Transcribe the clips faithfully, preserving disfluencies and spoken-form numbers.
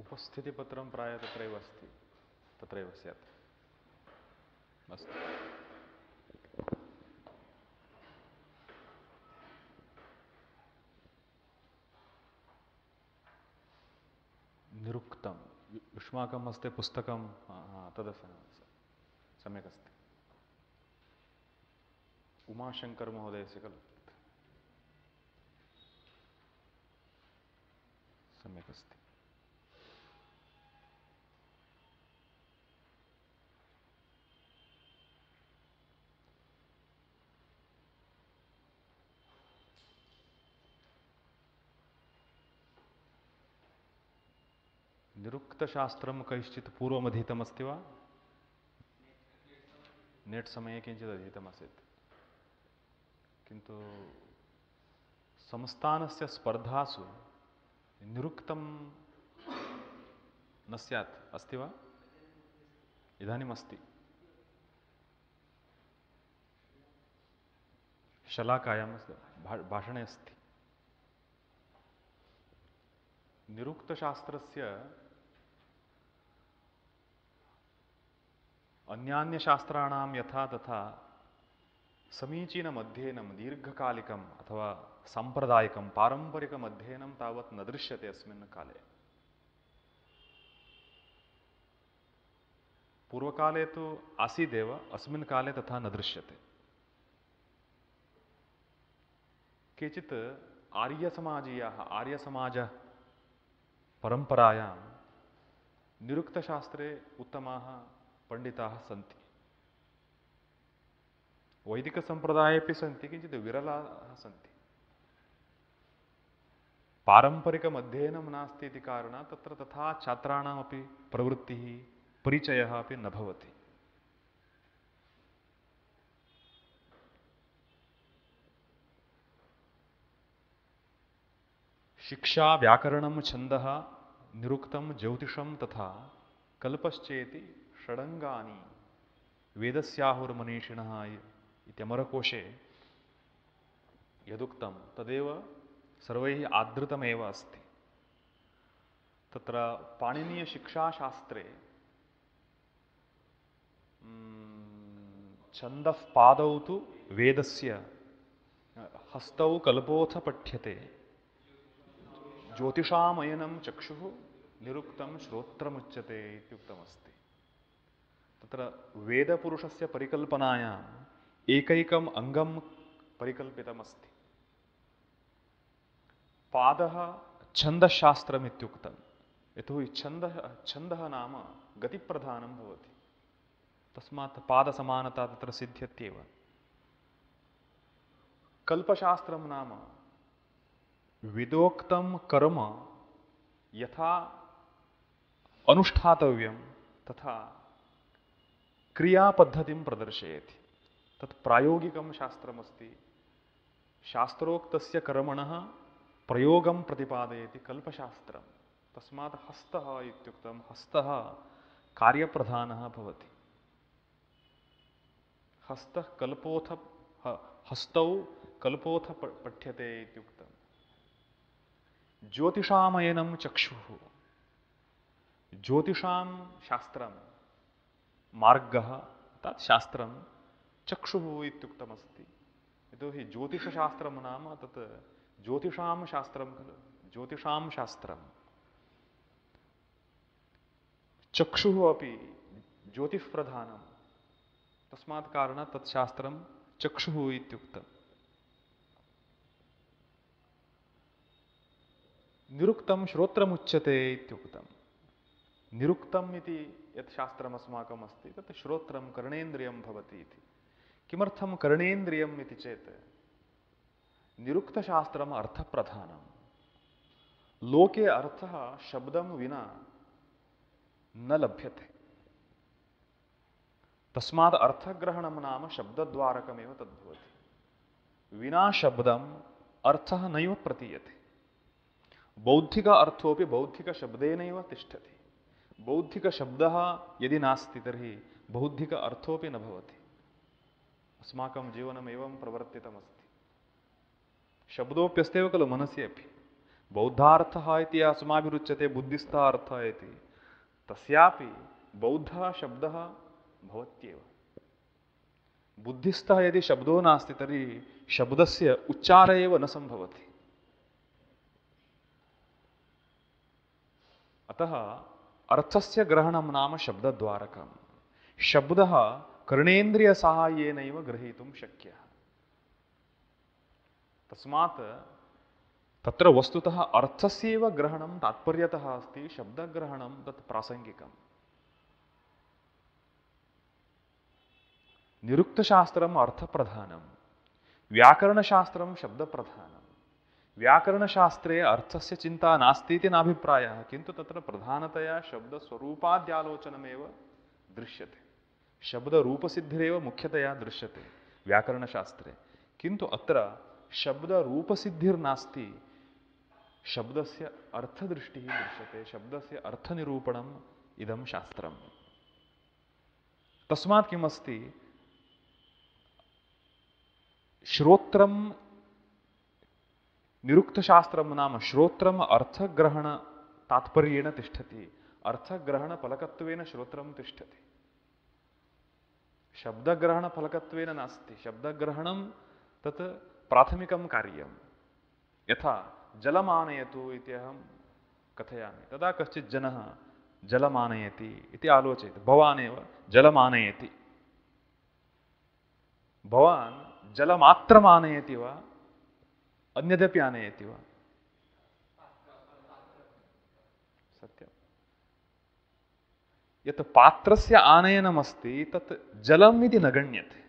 उपस्थितिपत्रं प्रायः तत्रैव अस्ति, तत्रैव स्यात्। अस्तु। निरुक्तं युष्माकं हस्ते पुस्तकं तद् सम्यक् अस्ति। उमाशङ्कर महोदयस्य खलु? सम्यक् अस्ति। निरुक्तशास्त्रं कैश्चित् पूर्वमधीतमस्ति वा? नेट् समये किञ्चित् अधीतमासीत्, किन्तु संस्थानस्य स्पर्धासु निरुक्तं न स्यात्, अस्ति वा? इदानीम् अस्ति। शलाकायां भाषणे अस्ति। निरुक्तशास्त्रस्य अन्यान्यशास्त्राणां यथा तथा समीचीनमध्ययनं दीर्घकालिकम् अथवा साम्प्रदायिकं पारम्परिकमध्ययनं तावत् न दृश्यते अस्मिन् काले। पूर्वकाले तु आसीदेव, अस्मिन् काले तथा न दृश्यते। केचित् आर्यसमाजीयाः आर्यसमाजपरम्परायां निरुक्तशास्त्रे उत्तमाः पंडिताः सन्ति। वैदिकसम्प्रदायेपि सन्ति, किञ्चित् विरलाः सन्ति। पारम्परिकमध्ययनं नास्ति इति कारणात् तत्र तथा छात्राणामपि प्रवृत्तिः परिचयः अपि न भवति। शिक्षा व्याकरणं छन्दः निरुक्तं ज्योतिषं तथा कल्पश्चेति षडङ्गानि वेदस्याहुर्मनीषिणः इत्यमरकोशे यदुक्तं तदेव सर्वैः आदृतमेव अस्ति। तत्र पाणिनीयशिक्षाशास्त्रे छन्दः पादौ तु वेदस्य हस्तौ कल्पोऽथ पठ्यते ज्योतिषामयनं चक्षुः निरुक्तं श्रोत्रमुच्यते इत्युक्तमस्ति। तत्र वेदपुरुषस्य परिकल्पनायाम् एकैकम् अङ्गं परिकल्पितमस्ति। पादः छन्दशास्त्रम् इत्युक्तं, यतोहि छन्दः छन्दः नाम गतिप्रधानं भवति, तस्मात् पादसमानता तत्र सिद्ध्यत्येव। कल्पशास्त्रं नाम विदोक्तं कर्म यथा अनुष्ठातव्यं तथा क्रियापद्धतिं प्रदर्शयति। तत् प्रायोगिकं शास्त्रमस्ति। शास्त्रोक्तस्य कर्मणः प्रयोगं प्रतिपादयति कल्पशास्त्रं। तस्मात् हस्तः इत्युक्तं, हस्तः कार्यप्रधानः भवति। हस्तः कल्पोऽथ हस्तौ कल्पोऽथ पठ्यते इत्युक्तं। ज्योतिषामयनं चक्षुः, ज्योतिषां शास्त्रं मार्गः तत् शास्त्रं चक्षुः इत्युक्तमस्ति। यतोहि ज्योतिषशास्त्रं नाम तत् ज्योतिषां शास्त्रं खलु, ज्योतिषां शास्त्रं। चक्षुः अपि ज्योतिष्प्रधानं, तस्मात् कारणात् तत् शास्त्रं चक्षुः इत्युक्तम्। निरुक्तं श्रोत्रमुच्यते इत्युक्तं। निरुक्तम् इति यत् शास्त्रम् अस्माकम् अस्ति तत् श्रोत्रं कर्णेन्द्रियं भवति इति। किमर्थं कर्णेन्द्रियम् इति चेत् निरुक्तशास्त्रम् अर्थप्रधानं। लोके अर्थः शब्दं विना न लभ्यते। तस्मात् अर्थग्रहणं नाम शब्दद्वारकमेव तद्भवति। विना शब्दम् अर्थः नैव प्रतीयते। बौद्धिक अर्थोपि बौद्धिकशब्देनैव तिष्ठति। बौद्धिकशब्दः यदि नास्ति तर्हि बौद्धिक अर्थोपि न भवति। अस्माकं जीवनम् एवं प्रवर्तितमस्ति। शब्दोऽप्यस्त्येव खलु मनसि अपि। बौद्धार्थः इति अस्माभिरुच्यते बुद्धिस्थः अर्थः इति, तस्यापि बौद्धः शब्दः भवत्येव। बुद्धिस्थः यदि शब्दो नास्ति तर्हि शब्दस्य उच्चार एव न सम्भवति। अतः अर्थस्य ग्रहणं नाम शब्दद्वारकम्। शब्दः कर्णेन्द्रियसाहाय्येनैव ग्रहीतुं शक्यः। तस्मात् तत्र वस्तुतः अर्थस्यैव ग्रहणं तात्पर्यतः अस्ति, शब्दग्रहणं तत् प्रासङ्गिकम्। निरुक्तशास्त्रम् अर्थप्रधानं, व्याकरणशास्त्रं शब्दप्रधानं। व्याकरणशास्त्रे अर्थस्य चिन्ता नास्ति इति नाभिप्रायः, किन्तु तत्र प्रधानतया शब्दस्वरूपाद्यालोचनमेव दृश्यते। शब्दरूपसिद्धिरेव मुख्यतया दृश्यते व्याकरणशास्त्रे, किन्तु अत्र शब्दरूपसिद्धिर्नास्ति, शब्दस्य अर्थदृष्टिः दृश्यते, शब्दस्य अर्थनिरूपणम् इदं शास्त्रम्। तस्मात् किमस्ति, श्रोत्रं निरुक्तशास्त्रं नाम श्रोत्रम् अर्थग्रहणतात्पर्येण तिष्ठति, अर्थग्रहणफलकत्वेन श्रोत्रं तिष्ठति, शब्दग्रहणफलकत्वेन नास्ति। शब्दग्रहणं तत् प्राथमिकं कार्यं। यथा जलमानयतु इति अहं कथयामि, तदा कश्चित् जनः जलमानयति इति आलोचयति, भवान् एव जलमानयति। भवान् जलमात्रम् आनयति वा अन्यदपि आनयति वा? सत्यं। यत् पात्रस्य आनयनमस्ति तत् जलम् इति न गण्यते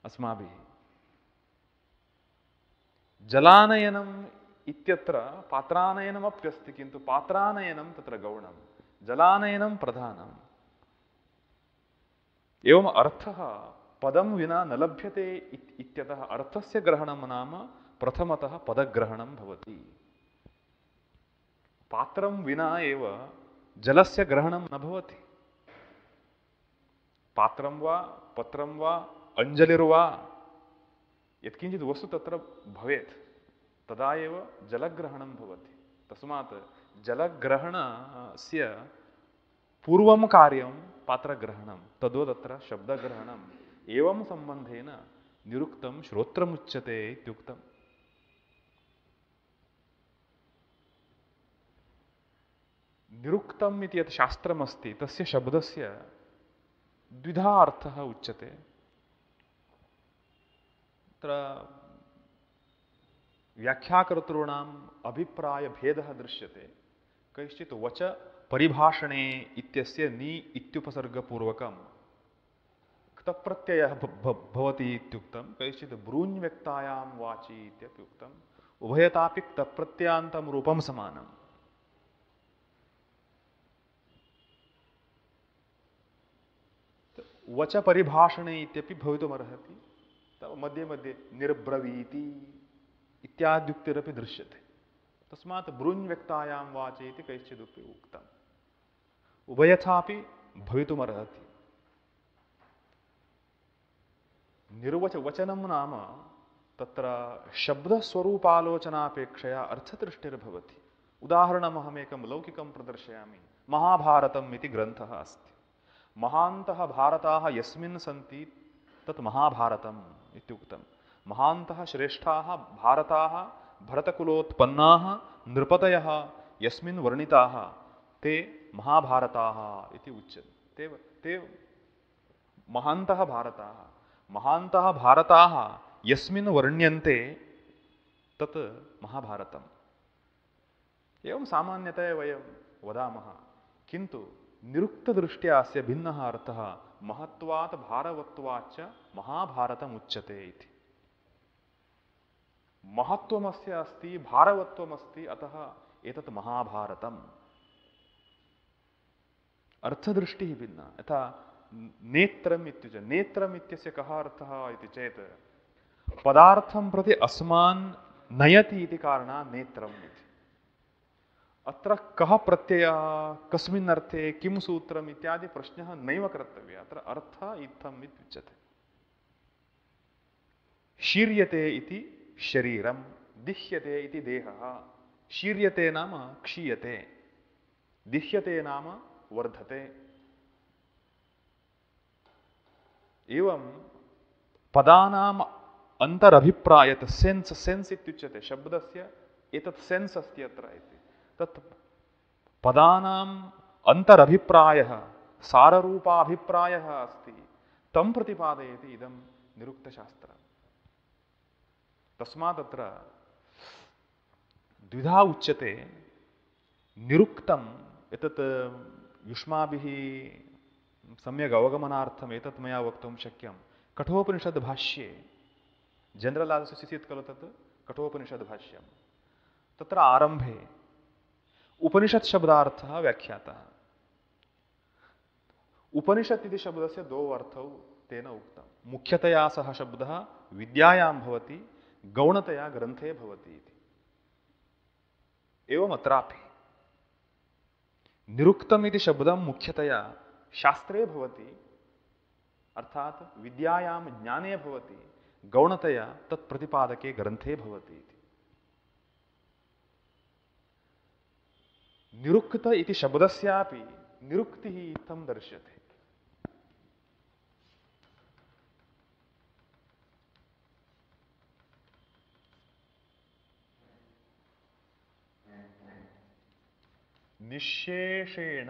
अस्माभिः। जलानयनम् इत्यत्र पात्रानयनमप्यस्ति, किन्तु पात्रानयनं तत्र गौणं, जलानयनं प्रधानम्। एवम् अर्थः पदं विना न लभ्यते इत्यतः अर्थस्य ग्रहणं नाम प्रथमतः पदग्रहणं भवति। पात्रं विना एव जलस्य ग्रहणं न भवति। पात्रं वा पत्रं वा अञ्जलिर्वा यत्किञ्चित् वस्तु तत्र भवेत्, तदा एव जलग्रहणं भवति। तस्मात् जलग्रहणस्य पूर्वं कार्यं पात्रग्रहणं, तद्वत् अत्र शब्दग्रहणम्। एवं सम्बन्धेन निरुक्तं श्रोत्रमुच्यते इत्युक्तम्। निरुक्तम् इति यत् शास्त्रमस्ति तस्य शब्दस्य द्विधा अर्थः उच्यते। तत्र व्याख्याकर्तॄणाम् अभिप्रायभेदः दृश्यते। कैश्चित् वच परिभाषणे इत्यस्य नि इत्युपसर्गपूर्वकं क्तप्रत्ययः भवति इत्युक्तं, कैश्चित् ब्रूञ्व्यक्तायां वाचि इत्यपि उक्तम्। उभयतापि क्तप्रत्ययान्तं रूपं समानम्। वच परिभाषणे इत्यपि भवितुमर्हति। मध्ये मध्ये निर्ब्रवीति इत्याद्युक्तिरपि दृश्यते। तस्मात् ब्रूञ्व्यक्तायां वाचि इति कैश्चिदपि उक्तम्। उभयथापि भवितुमर्हति। निर्वच वचनं नाम तत्र शब्दस्वरूपालोचनापेक्षया अर्थदृष्टिर्भवति। उदाहरणमहमेकं लौकिकं प्रदर्शयामि। महाभारतम् इति ग्रन्थः अस्ति। महान्तः भारताः यस्मिन् सन्ति तत् महाभारतम् इत्युक्तम्। महान्तः श्रेष्ठाः भारताः भरतकुलोत्पन्नाः नृपतयः यस्मिन् वर्णिताः ते महाभारताः इति उच्यते। ते ते महान्तः भारताः महान्तः भारताः यस्मिन् वर्ण्यन्ते तत् महाभारतम्। एवं सामान्यतया वयं वदामः, किन्तु निरुक्तदृष्ट्या अस्य भिन्नः अर्थः महत्वात् भारवत्वाच्च महाभारतम् उच्यते इति। महत्वमस्य अस्ति, भारवत्वमस्ति, अतः एतत् महाभारतम्। अर्थदृष्टिः भिन्ना। यथा नेत्रम् इत्युच्यते। नेत्रम् इत्यस्य कः अर्थः इति चेत् पदार्थं प्रति अस्मान् नयति इति कारणात् नेत्रम् इति। अत्र कः प्रत्ययः, कस्मिन् अर्थे, किं सूत्रम् इत्यादि प्रश्नः नैव कर्तव्यः। अत्र अर्थः इत्थम् इत्युच्यते। शीर्यते इति शरीरं, दिह्यते इति देहः, शीर्यते नाम क्षीयते, दिह्यते नाम वर्धते। एवं पदानाम् अन्तरभिप्रायत सेन्स् सेन्स् इत्युच्यते शब्दस्य एतत् सेन्स् अस्ति अत्र इति, तत् पदानाम् अन्तरभिप्रायः साररूपाभिप्रायः अस्ति, तं प्रतिपादयति इदं निरुक्तशास्त्रम्। तस्मात् अत्र द्विधा उच्यते। निरुक्तम् एतत् युष्माभिः सम्यक् अवगमनार्थम् एतत् मया वक्तुं शक्यं। कठोपनिषद् भाष्ये जनरल् आसीत् खलु तत् कठोपनिषद् भाष्यं, तत्र आरम्भे उपनिषत् शब्दार्थः व्याख्यातः। उपनिषत् इति शब्दस्य द्वौ अर्थौ तेन उक्तं। मुख्यतया सः शब्दः विद्यायां भवति, गौणतया ग्रन्थे भवति इति। एवम् अत्रापि निरुक्तम् इति शब्दं मुख्यतया शास्त्रे भवति, अर्थात विद्यायां ज्ञाने भवति, गौणतया तत्प्रतिपादके ग्रन्थे भवति इति। निरुक्त इति शब्दस्यापि निरुक्तिः इत्थं दर्श्यते। निःशेषेण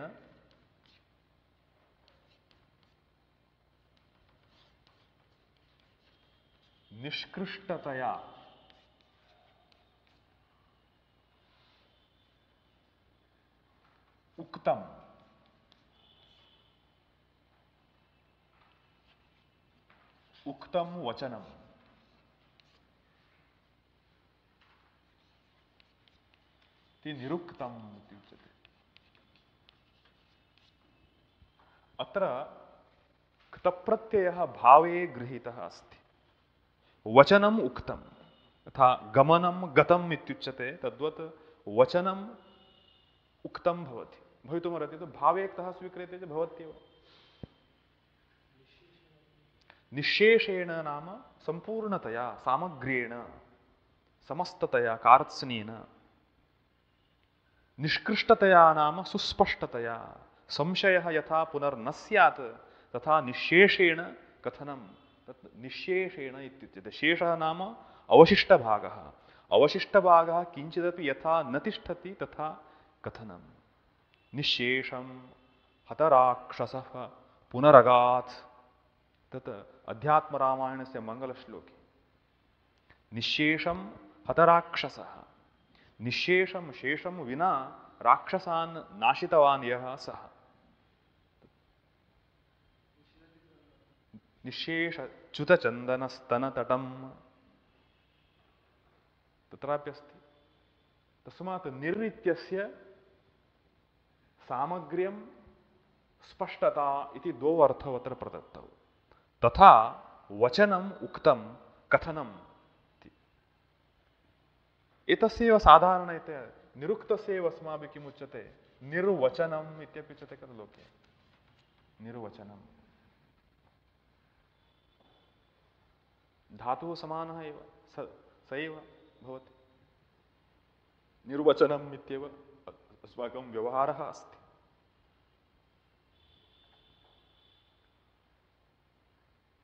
निष्कृष्टतया उक्तम उक्तम वचनम इति निरुक्तम् इत्युच्यते। अत्र क्तप्रत्ययः भावे गृहीतः अस्ति। वचनम् उक्तम् यथा गमनं गतम् इत्युच्यते, तद्वत् वचनम् उक्तं भवति। भवितुमर्हति तु भावे क्तः स्वीक्रियते चेत् भवत्येव। निःशेषेण नाम सम्पूर्णतया सामग्र्येण समस्ततया कार्त्स्नेन। निष्कृष्टतया नाम सुस्पष्टतया, संशयः यथा पुनर्न स्यात् तथा निःशेषेण कथनं, तत् निःशेषेण इत्युच्यते। शेषः नाम अवशिष्टभागः, अवशिष्टभागः किञ्चिदपि यथा न तिष्ठति तथा कथनं। निःशेषं हतराक्षसः पुनरगात्, तत् अध्यात्मरामायणस्य मङ्गलश्लोके। निःशेषं हतराक्षसः, निःशेषं शेषं विना राक्षसान् नाशितवान् यः सः। निःशेष च्युतचन्दनस्तनतटं तत्राप्यस्ति। तस्मात् निर् इत्यस्य सामग्र्यं स्पष्टता इति द्वौ अर्थौ अत्र प्रदत्तौ। तथा वचनम् उक्तं कथनम् इति। एतस्यैव साधारणतया निरुक्तस्यैव अस्माभिः किम् उच्यते, निर्वचनम् इत्यपि उच्यते खलु लोके। निर्वचनम् धातुः समानः एव, स स एव भवति। निर्वचनम् इत्येव अस्माकं व्यवहारः अस्ति।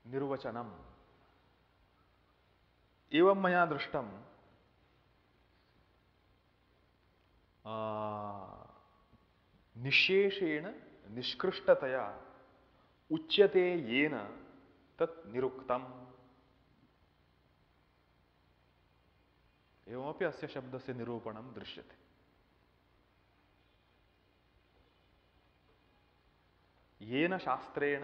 निर्वचनम् एवं मया दृष्टं, निःशेषेण निष्कृष्टतया उच्यते येन तत् निरुक्तम्। एवमपि अस्य शब्दस्य निरूपणं दृश्यते। येन शास्त्रेण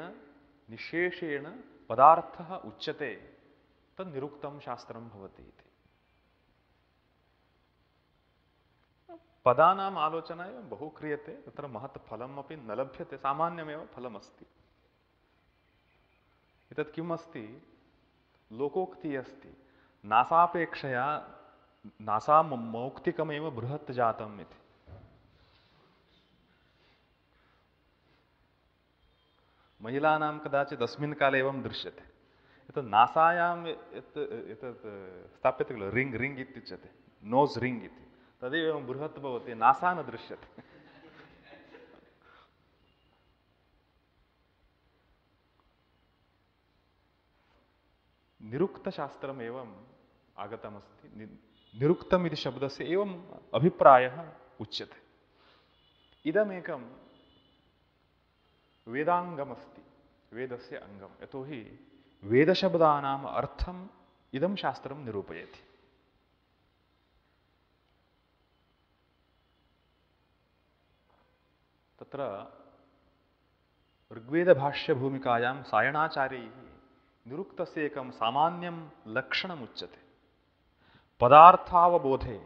निःशेषेण पदार्थः उच्यते तत् निरुक्तं शास्त्रं भवति इति। पदानाम् आलोचना एव बहु क्रियते, तत्र महत् फलमपि न लभ्यते, सामान्यमेव फलमस्ति। एतत् किम् अस्ति, लोकोक्तिः अस्ति, नासापेक्षया नासा मौक्तिकमेव बृहत् जातम् इति। महिलानां कदाचित् अस्मिन् काले एवं दृश्यते, एतत् नासायां यत् एतत् स्थाप्यते खलु रिङ्ग् रिङ्ग् इत्युच्यते, नोस् रिङ्ग् इति, तदेव एवं बृहत् भवति, नासा न दृश्यते। निरुक्तशास्त्रम् एवम् आगतमस्ति। निरुक्तम् इति शब्दस्य एवम् अभिप्रायः उच्यते। इदमेकं वेदाङ्गमस्ति, वेदस्य अङ्गं, यतोहि वेदशब्दानाम् अर्थम् इदं शास्त्रं निरूपयति। तत्र ऋग्वेदभाष्यभूमिकायां सायणाचार्यैः निरुक्तस्य एकं सामान्यं लक्षणमुच्यते। पदार्थावबोधे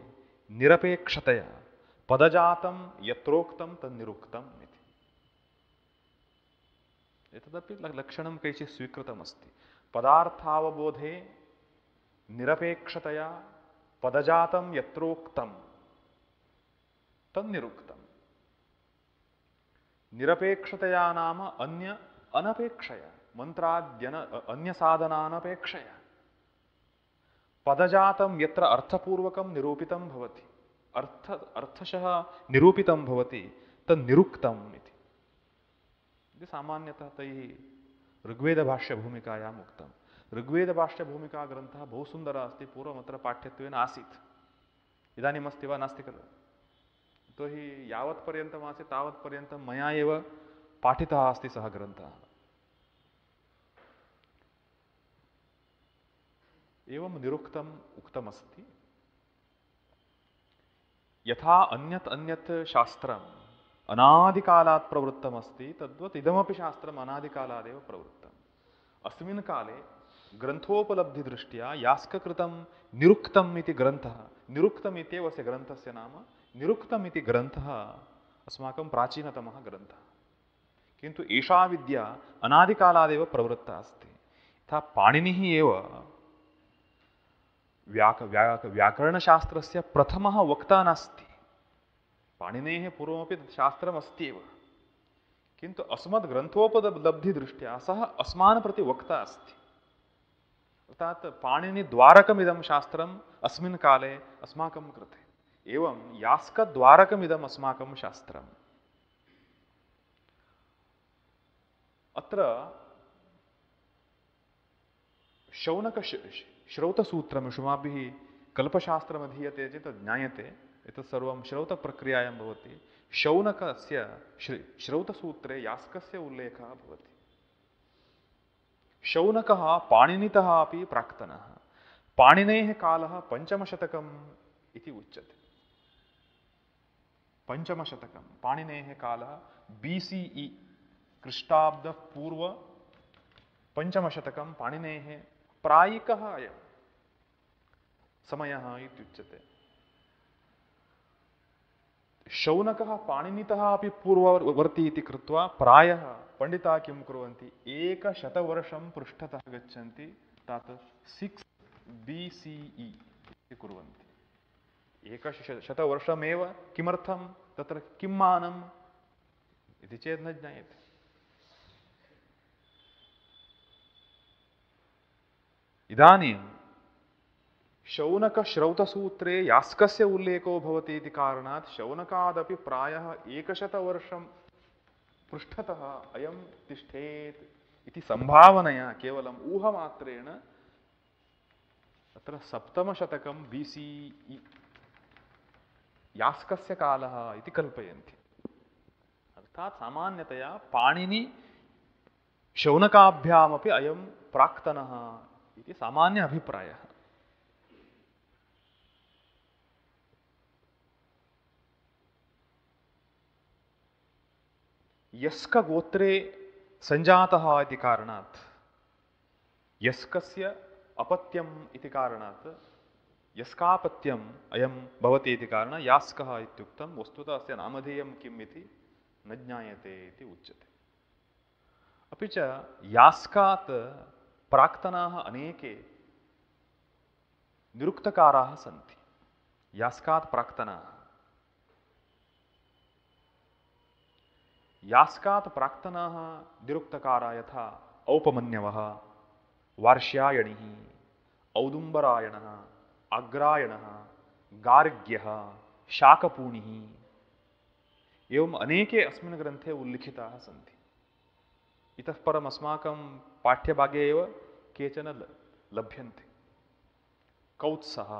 निरपेक्षतया पदजातं यत्रोक्तं तन्निरुक्तम् इति। एतदपि लक्षणं कैचित् स्वीकृतमस्ति। पदार्थावबोधे निरपेक्षतया पदजातं यत्रोक्तं तन्निरुक्तम्। निरपेक्षतया नाम अन्य अनपेक्षया, मंत्राद्यन अन्य साधनानपेक्षया। पदजातं यत्र अर्थपूर्वकं निरूपितं भवति, अर्थ अर्थशः निरूपितं भवति, तन्निरुक्तम् इति। इति सामान्यतः तैः ऋग्वेदभाष्यभूमिकायाम् उक्तम्। ऋग्वेदभाष्यभूमिकाग्रन्थः बहु सुन्दरः अस्ति, पूर्वमत्र पाठ्यत्वेन आसीत्, इदानीमस्ति वा नास्ति खलु। यतोहि यावत्पर्यन्तम् आसीत् तावत्पर्यन्तं मया एव पाठितः अस्ति सः ग्रन्थः। एवं निरुक्तम् उक्तमस्ति। यथा अन्यत् अन्यत् शास्त्रम् अनादिकालात् प्रवृत्तमस्ति, तद्वत् इदमपि शास्त्रम् अनादिकालादेव प्रवृत्तम्। अस्मिन् काले ग्रन्थोपलब्धिदृष्ट्या यास्ककृतं निरुक्तम् इति ग्रन्थः, निरुक्तम् इत्येव अस्य ग्रन्थस्य नाम, निरुक्तम् इति ग्रन्थः अस्माकं प्राचीनतमः ग्रन्थः। किन्तु एषा विद्या अनादिकालादेव प्रवृत्ता अस्ति। यथा पाणिनिः एव व्याक व्याक व्याकरणशास्त्रस्य प्रथमः वक्ता नास्ति। पाणिनेः पूर्वमपि शास्त्रमस्ति एव, किन्तु अस्मद् ग्रन्थोपलब्धिदृष्ट्या सः अस्मान् प्रति वक्ता अस्ति। अर्थात् पाणिनिद्वारकमिदं शास्त्रम् अस्मिन् काले अस्माकं कृते, एवं यास्कद्वारकमिदम् अस्माकं शास्त्रम्। अत्र शौनक श्रौतसूत्रम् युष्माभिः कल्पशास्त्रमधीयते चेत् ज्ञायते, एतत् सर्वं श्रौतप्रक्रियायां भवति। शौनकस्य श्रौतसूत्रे यास्कस्य उल्लेखः भवति। शौनकः पाणिनितः अपि प्राक्तनः। पाणिनेः कालः पञ्चमशतकम् इति उच्यते। पञ्चमशतकं पाणिनेः कालः बी सी ई, ख्रीष्टाब्दपूर्व पञ्चमशतकं पाणिनेः प्रायिकः अयं समयः इत्युच्यते। शौनकः पाणिनितः अपि पूर्ववर्ती इति कृत्वा प्रायः पण्डिताः किं कुर्वन्ति, एकशतवर्षं पृष्ठतः गच्छन्ति, तत् सिक्स् बी सी ई इति कुर्वन्ति। एकशतवर्षमेव किमर्थं तत्र किं मानम् इति चेत् न ज्ञायते। इदानीं शौनकश्रौतसूत्रे यास्कस्य उल्लेखो भवति इति कारणात् शौनकादपि प्रायः एकशतवर्षं पृष्ठतः अयं तिष्ठेत् इति सम्भावनया केवलम् ऊहमात्रेण अत्र सप्तमशतकं बी सी ई यास्कस्य कालः इति कल्पयन्ति। अर्थात् सामान्यतया पाणिनि शौनकाभ्यामपि अयं प्राक्तनः इति सामान्य अभिप्रायः। यस्कगोत्रे सञ्जातः इति कारणात्, यस्कस्य अपत्यम् इति कारणात्, यस्कापत्यम् अयं भवति इति कारणात् यास्कः इत्युक्तं। वस्तुतः अस्य नामधेयं किम् इति न ज्ञायते इति उच्यते। अपि च यास्कात् प्राक्तनाः अनेके निरुक्तकाराः सन्ति। यास्कात् प्राक्तनाः, यास्कात् प्राक्तनाः निरुक्तकाराः यथा औपमन्यवः, वार्ष्यायणिः, औदुम्बरायणः, अग्रायणः, गार्ग्यः, शाकपूणिः एवम् अनेके अस्मिन् ग्रन्थे उल्लिखिताः सन्ति। इतः परम् अस्माकं पाठ्यभागे एव केचन लभ्यन्ते। कौत्सः,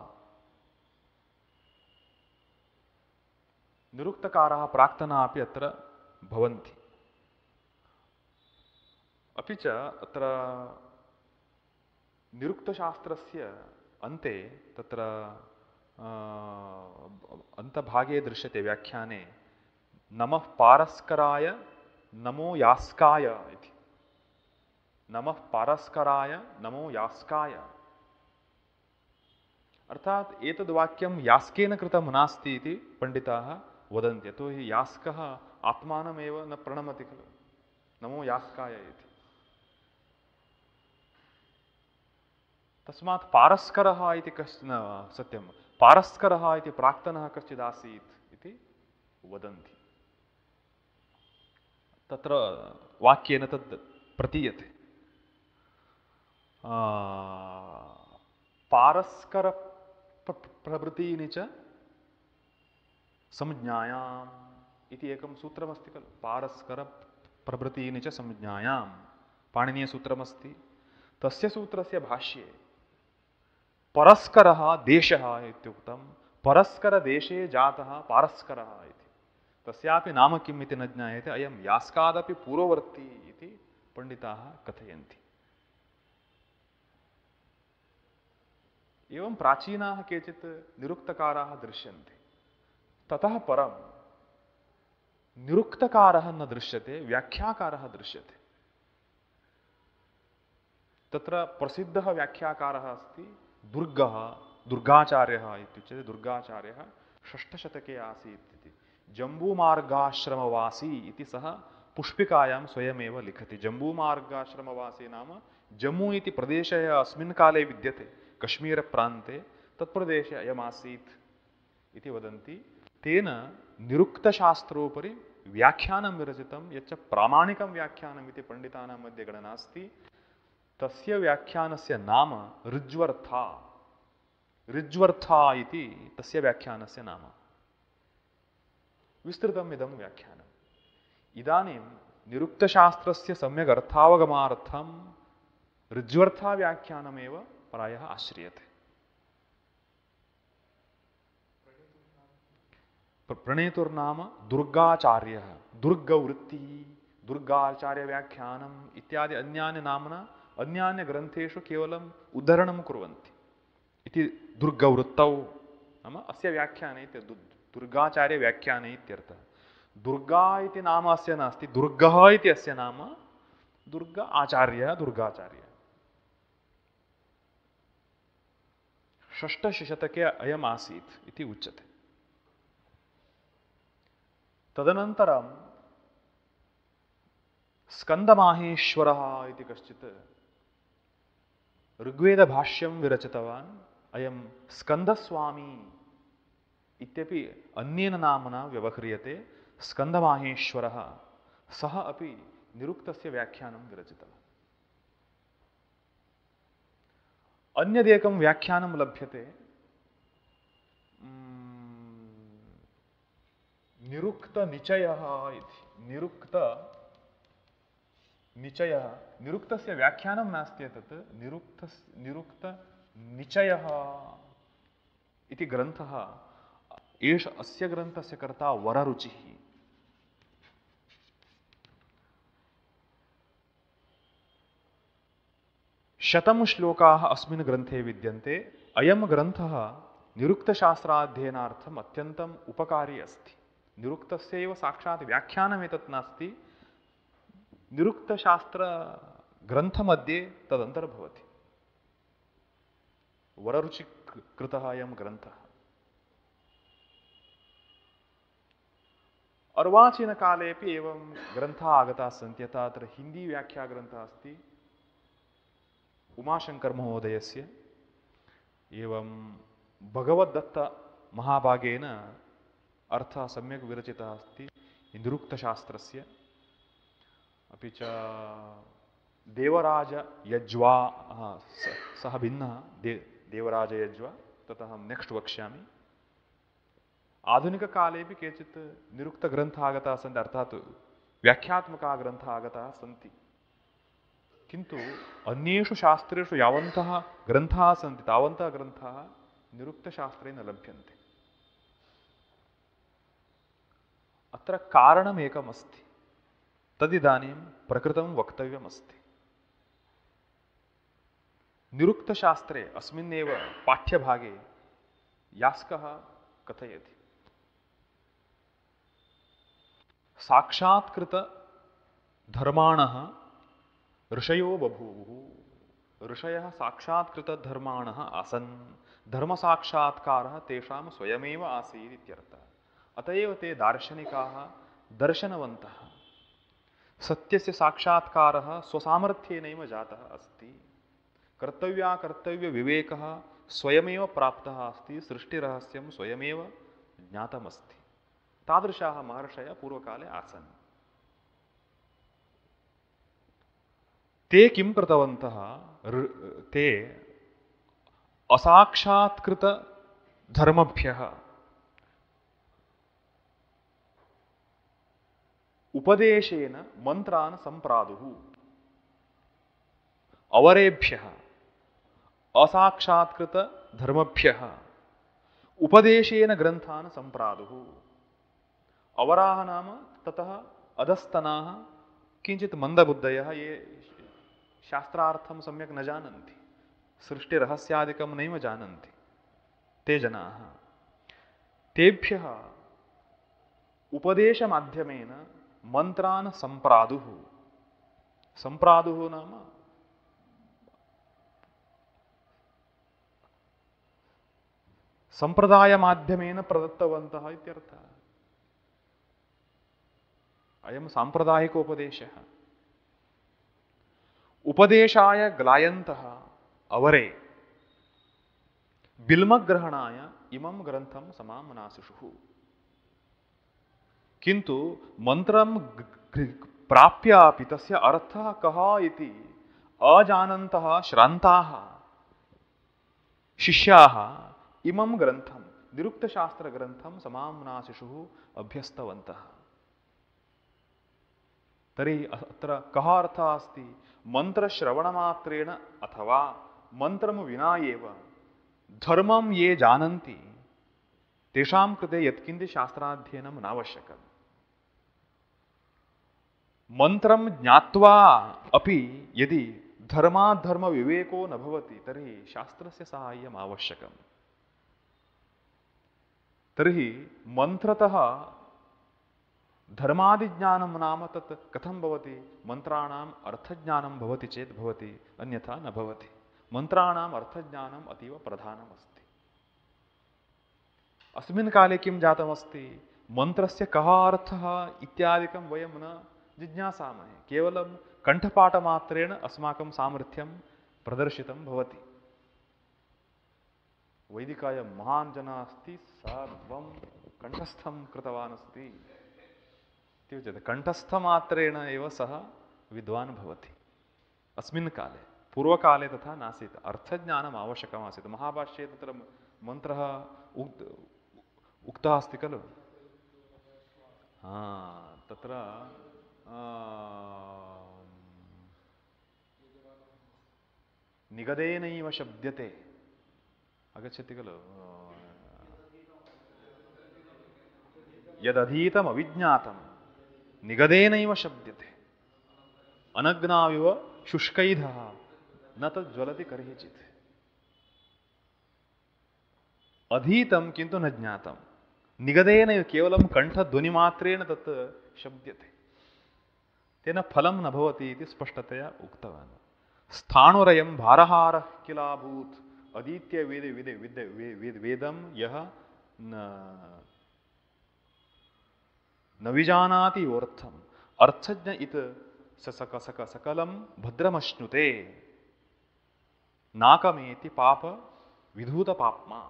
निरुक्तकाराः प्राक्तनाः अपि अत्र भवन्ति। अपि च अत्र निरुक्तशास्त्रस्य अन्ते तत्र अन्तभागे दृश्यते व्याख्याने नमः पारस्कराय नमो यास्काय इति। नमः पारस्कराय नमो यास्काय अर्थात एतद् वाक्यं यास्केन कृतं नास्ति इति पण्डिताः वदन्ति। यतो हि यास्कः आत्मानमेव न प्रणमति खलु, नमो यास्काय इति। तस्मात् पारस्करः इति कश्चन सत्यं पारस्करः इति प्राक्तनः कश्चित् आसीत् इति वदन्ति। तत्र वाक्येन तद् प्रतीयते। पारस्कर प्रभृतीनि च संज्ञायाम् इति एकं सूत्रमस्ति खलु। पारस्कर प्रभृतीनि च संज्ञायाम् पाणिनीयसूत्रमस्ति। तस्य सूत्रस्य भाष्ये परस्करः देशः इत्युक्तं। परस्करदेशे जातः पारस्करः इति। तस्यापि नाम किम् इति न ज्ञायते। अयं यास्कादपि पूर्ववर्ती इति पण्डिताः कथयन्ति। एवं प्राचीनाः केचित् निरुक्तकाराः दृश्यन्ते। ततः परं निरुक्तकारः न दृश्यते, व्याख्याकारः दृश्यते। तत्र प्रसिद्धः व्याख्याकारः अस्ति दुर्गः, दुर्गाचार्यः इत्युच्यते। दुर्गाचार्यः षष्ठशतके आसीत् इति। जम्बूमार्गाश्रमवासी इति सः पुष्पिकायां स्वयमेव लिखति। जम्बूमार्गाश्रमवासी नाम जम्मू इति प्रदेशः अस्मिन् काले विद्यते कश्मीरप्रान्ते, तत्प्रदेशे अयमासीत् इति वदन्ति। तेन निरुक्तशास्त्रोपरि व्याख्यानं विरचितं, यच्च प्रामाणिकं व्याख्यानम् इति पण्डितानां मध्ये गणना अस्ति। तस्य व्याख्यानस्य नाम ऋज्वर्था। ऋज्वर्था इति तस्य व्याख्यानस्य नाम। विस्तृतम् इदं व्याख्यानम्। इदानीं निरुक्तशास्त्रस्य सम्यक् अर्थावगमार्थं ऋज्वर्था व्याख्यानमेव प्रायः आश्रियते। प्रणेतुर्नाम दुर्गाचार्यः, दुर्गवृत्तिः, दुर्गाचार्यव्याख्यानम् इत्यादि अन्यानि नाम्ना अन्यान्यग्रन्थेषु केवलम् उद्धरणं कुर्वन्ति इति। दुर्गवृत्तौ नाम अस्य व्याख्याने दुर्गाचार्यव्याख्याने इत्यर्थः। दुर्गा इति नाम अस्य नास्ति, दुर्गः इति अस्य नाम। दुर्ग आचार्यः, दुर्गाचार्यः। षष्ठशतके अयम् आसीत् इति उच्यते। तदनन्तरं स्कन्दमाहेश्वरः इति कश्चित् ऋग्वेदभाष्यं विरचितवान्। अयं स्कन्दस्वामी इत्यपि अन्येन नाम्ना व्यवह्रियते। स्कन्दमाहेश्वरः, सः अपि निरुक्तस्य व्याख्यानं विरचितवान्। अन्यदेकं व्याख्यानं लभ्यते निरुक्तनिचयः इति। निरुक्तनिचयः, निरुक्तस्य व्याख्यानं नास्ति एतत्। निरुक्त निरुक्तनिचयः इति ग्रन्थः। एष अस्य ग्रन्थस्य कर्ता वररुचिः। शतं श्लोकाः अस्मिन् ग्रन्थे विद्यन्ते। अयं ग्रन्थः निरुक्तशास्त्राध्ययनार्थम् अत्यन्तम् उपकारी अस्ति। निरुक्तस्य एव साक्षात् व्याख्यानमेतत् नास्ति, निरुक्तशास्त्रग्रन्थमध्ये तदन्तर्भवति। वररुचिकृतः अयं ग्रन्थः। अर्वाचीनकालेपि एवं ग्रन्थाः आगताः सन्ति। यथा अत्र हिन्दी व्याख्याग्रन्थः अस्ति उमाशंकर महोदयस्य। एवं भगवद्दत्तमहाभागेन अर्थः सम्यक् विरचितः अस्ति निरुक्तशास्त्रस्य। अपि च देवराज यज्वा सः भिन्नः दे देवराज यज्वा तत् अहं नेक्स्ट् वक्ष्यामि। आधुनिककालेपि केचित् निरुक्तग्रन्थाः आगताः सन्ति, अर्थात् व्याख्यात्मकाः ग्रन्थाः आगताः सन्ति, किन्तु अन्येषु शास्त्रेषु यावन्तः ग्रन्थाः सन्ति तावन्तः ग्रन्थाः निरुक्तशास्त्रे न लभ्यन्ते। अत्र कारणमेकमस्ति, तदिदानीं प्रकृतं वक्तव्यमस्ति। निरुक्तशास्त्रे अस्मिन्नेव पाठ्यभागे यास्कः कथयति, साक्षात्कृत धर्माणः ऋषयो बभूवुः। ऋषयः साक्षात्कृत धर्माणः आसन्, धर्मसाक्षात्कारः तेषां स्वयमेव आसीत् इत्यर्थः। अत एव ते दार्शनिकाः दर्शनवन्तः। सत्यस्य साक्षात्कारः स्वसामर्थ्येनैव जातः अस्ति। कर्तव्याकर्तव्यविवेकः स्वयमेव प्राप्तः अस्ति, सृष्टिरहस्यं स्वयमेव ज्ञातमस्ति। तादृशाः महर्षयः पूर्वकाले आसन्। ते किं कृतवन्तः? ते असाक्षात्कृत धर्मभ्यः उपदेशेन मंत्रान् सम्प्रादुः। अवरेभ्यः असाक्षात्कृत धर्मभ्यः उपदेशेन ग्रन्थान् सम्प्रादुः। अवराः नाम ततः अधस्तनाः किञ्चित् मन्दबुद्धयः, ये शास्त्रार्थं सम्यक् न जानन्ति, सृष्टिरहस्यादिकं नैव जानन्ति, ते जनाः। तेभ्यः उपदेशमाध्यमेन मन्त्रान् सम्प्रादुः। सम्प्रादुः नाम सम्प्रदायमाध्यमेन प्रदत्तवन्तः इत्यर्थः। अयं साम्प्रदायिकोपदेशः। उपदेशाय ग्लायन्तः अवरे बिल्मग्रहणाय इमं ग्रन्थं समामनासिषुः। किन्तु मन्त्रं प्राप्यापि तस्य अर्थः कः इति अजानन्तः श्रान्ताः शिष्याः इमं ग्रन्थं निरुक्तशास्त्रग्रन्थं समाम्नाशिषुः अभ्यस्तवन्तः। तर्हि अत्र कः अर्थः अस्ति? मन्त्रश्रवणमात्रेण अथवा मन्त्रं विना एव धर्मं ये जानन्ति तेषां कृते यत्किञ्चित् शास्त्राध्ययनं नावश्यकम्। मन्त्रं ज्ञात्वा अपि यदि धर्माधर्मविवेको न भवति तर्हि शास्त्रस्य साहाय्यम् आवश्यकम्। तर्हि मन्त्रतः धर्मादिज्ञानं नाम तत् कथं भवति? मन्त्राणाम् अर्थज्ञानं भवति चेत् भवति, अन्यथा न भवति। मन्त्राणाम् अर्थज्ञानम् अतीव प्रधानमस्ति। अस्मिन् काले किं जातमस्ति? मन्त्रस्य कः अर्थः इत्यादिकं वयं न जिज्ञासामहे। केवलं कण्ठपाठमात्रेण अस्माकं सामर्थ्यं प्रदर्शितं भवति। वैदिकाय महान् जनः अस्ति, सर्वं कण्ठस्थं कृतवान् अस्ति इत्युच्यते। कण्ठस्थमात्रेण एव सः विद्वान् भवति। अस्मिन् काले, पूर्वकाले तथा नासीत्। अर्थज्ञानम् आवश्यकमासीत्। महाभाष्ये तत्र मन्त्रः उक्त उक्तः अस्ति खलु। हा, तत्र निगदेनैव शब्द्यते, आगच्छति खलु। यदधीतम् अविज्ञातं निगदेनैव शब्द्यते, अनग्नाविव शुष्कैधः न तद् ज्वलति कर्हिचित्। अधीतं किन्तु न ज्ञातं, निगदेनैव केवलं कण्ठध्वनिमात्रेण तत् शब्द्यते, तेन फलं न भवति इति स्पष्टतया उक्तवान्। स्थाणुरयं भारहारः किलाभूत् अधीत्य वेद वेद वेद वेद वेदं यः न न विजानाति योर्थम् अर्थज्ञ इत सक सक सकलं भद्रमश्नुते नाकमेति पाप विधूत पाप्मा।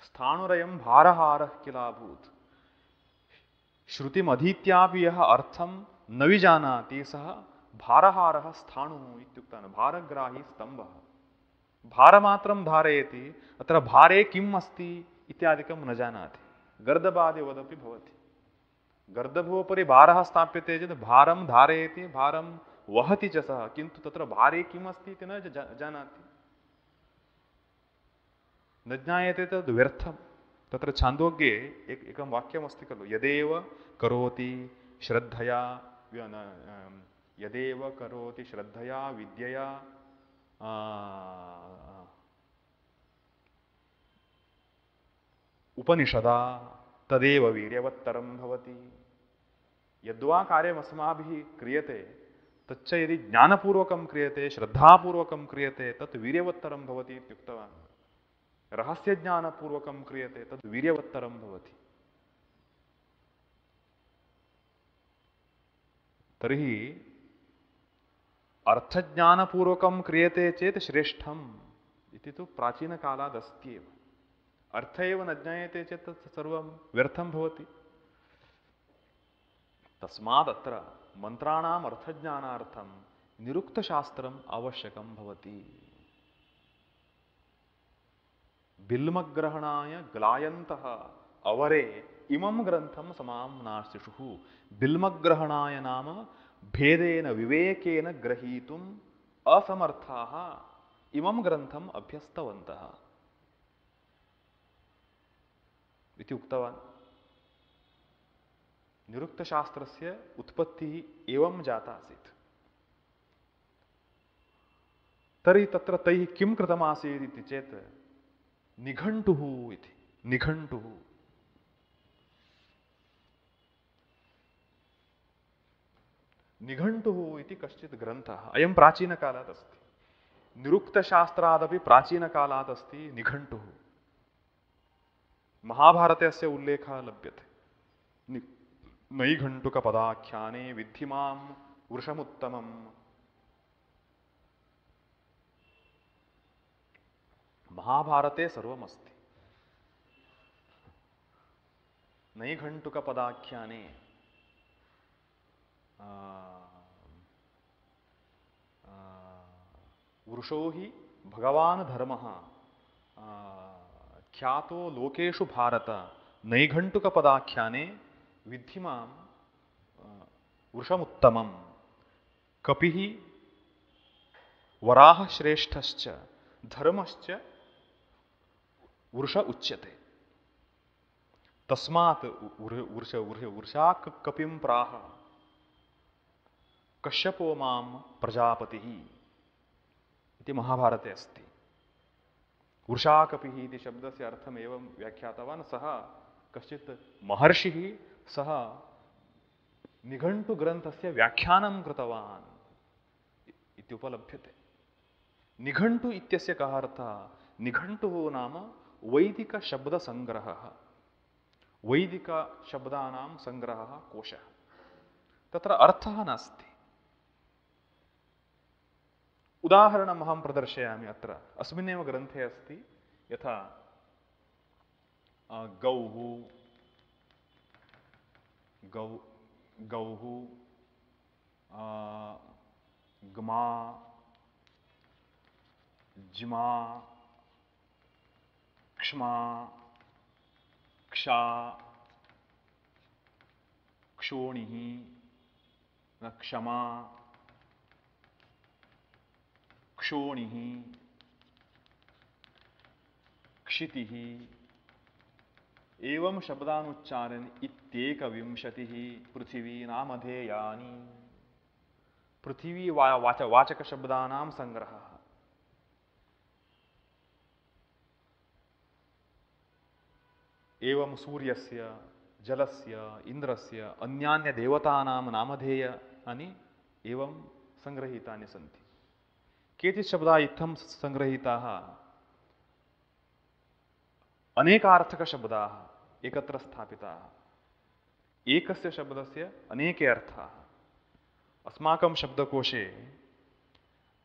स्थाणुरयं भारहारः किलाभूत्। श्रुतिमधीत्यापि यः अर्थं न विजानाति सः भारहारः स्थाणुः इत्युक्तवान्, भारग्राही स्तम्भः। भारमात्रं धारयति, अत्र भारे किम् अस्ति इत्यादिकं न जानाति। गर्दभादिवदपि भवति। गर्दभोपरि भारः स्थाप्यते चेत् भारं धारयति, भारं वहति च सः, किन्तु तत्र भारे किम् अस्ति इति न जानाति, न ज्ञायते, तद् व्यर्थं। तत्र छान्दोग्ये एक एकं वाक्यमस्ति खलु, यदेव करोति श्रद्धया यदेव करोति श्रद्धया विद्यया उपनिषदा तदेव वीर्यवत्तरं भवति। यद्वा कार्यमस्माभिः क्रियते तच्च यदि ज्ञानपूर्वकं क्रियते, श्रद्धापूर्वकं क्रियते, तत् वीर्यवत्तरं भवति इत्युक्तवान्। रहस्यज्ञानपूर्वकं क्रियते तद् वीर्यवत्तरं भवति। तर्हि अर्थज्ञानपूर्वकं क्रियते चेत् श्रेष्ठम् इति तु प्राचीनकालादस्ति एव। अर्थ एव न ज्ञायते चेत् तत् सर्वं व्यर्थं भवति। तस्मात् अत्र मन्त्राणाम् अर्थज्ञानार्थं निरुक्तशास्त्रम् आवश्यकं भवति। बिल्मग्रहणाय ग्लायन्तः अवरे इमं ग्रन्थं समाम्नाशिषुः। बिल्मग्रहणाय नाम भेदेन विवेकेन ग्रहीतुम् असमर्थाः इमं ग्रन्थम् अभ्यस्तवन्तः इति उक्तवान्। निरुक्तशास्त्रस्य उत्पत्तिः एवं जाता आसीत्। तर्हि तत्र तैः किं कृतमासीत् इति चेत् निघण्टुः इति। निघण्टुः निघण्टुः इति कश्चित् ग्रन्थः, अयं प्राचीनकालात् अस्ति। निरुक्तशास्त्रादपि प्राचीनकालात् अस्ति निघण्टुः। महाभारते अस्य उल्लेखः लभ्यते। नैघण्टुकपदाख्याने विद्धि मां वृषमुत्तमम्। महाभारते सर्वमस्ति। नैघण्टुकपदाख्याने वृषो हि भगवान् धर्मः ख्यातो लोकेषु भारत नैघण्टुकपदाख्याने विद्धि मां वृषमुत्तमम्। कपिः वराहश्रेष्ठश्च धर्मश्च वृष उच्यते। तस्मात् वृष वृषा कपिं प्राह कश्यपो मां प्रजापतिः इति महाभारते अस्ति। वृषाकपिः इति शब्दस्य अर्थम् एवं व्याख्यातवान् सः कश्चित् महर्षिः। सः निघण्टुग्रन्थस्य व्याख्यानं कृतवान् इति उपलभ्यते। निघण्टु इत्यस्य कः अर्थः? निघण्टुः नाम वैदिकशब्दसङ्ग्रहः, वैदिकशब्दानां सङ्ग्रहः, कोशः। तत्र अर्थः नास्ति। उदाहरणम् अहं प्रदर्शयामि। अत्र अस्मिन्नेव ग्रन्थे अस्ति। यथा गौः गौ गौः ग्मा जिमा क्ष्माक्षा क्षोणिः क्षमा क्षोणिः क्षितिः एवं शब्दानुच्चारण इत्येकविंशतिः पृथिवी नामधेयानि। पृथिवी वा वाच वाचक शब्दानां संग्रहः। एवं सूर्यस्य जलस्य इन्द्रस्य अन्यान्य देवतानां नामधेयानि एवं संग्रहीतानि सन्ति। केचित् शब्दाः इत्थं संग्रहीताः अनेकार्थकशब्दाः एकत्र स्थापिताः। एकस्य शब्दस्य अनेके अर्थाः। अस्माकं शब्दकोशे